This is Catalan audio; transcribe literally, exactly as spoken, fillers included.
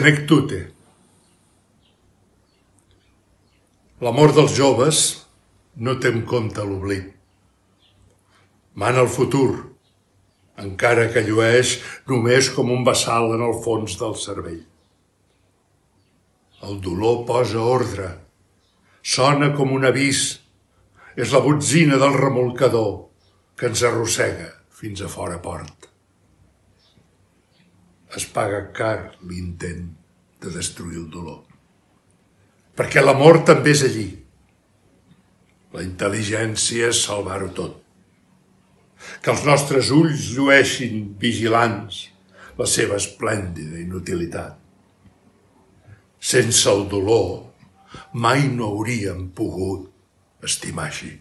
Senectute. L'amor dels joves no té en compte l'oblit. Mana el futur, encara que llueix només com un bassal en el fons del cervell. El dolor posa ordre, sona com un avís, és la botzina del remolcador que ens arrossega fins a fora port. Es paga car l'intent de destruir el dolor, perquè l'amor també és allí. La intel·ligència és salvar-ho tot. Que els nostres ulls llueixin vigilants la seva esplèndida inutilitat. Sense el dolor mai no hauríem pogut estimar així.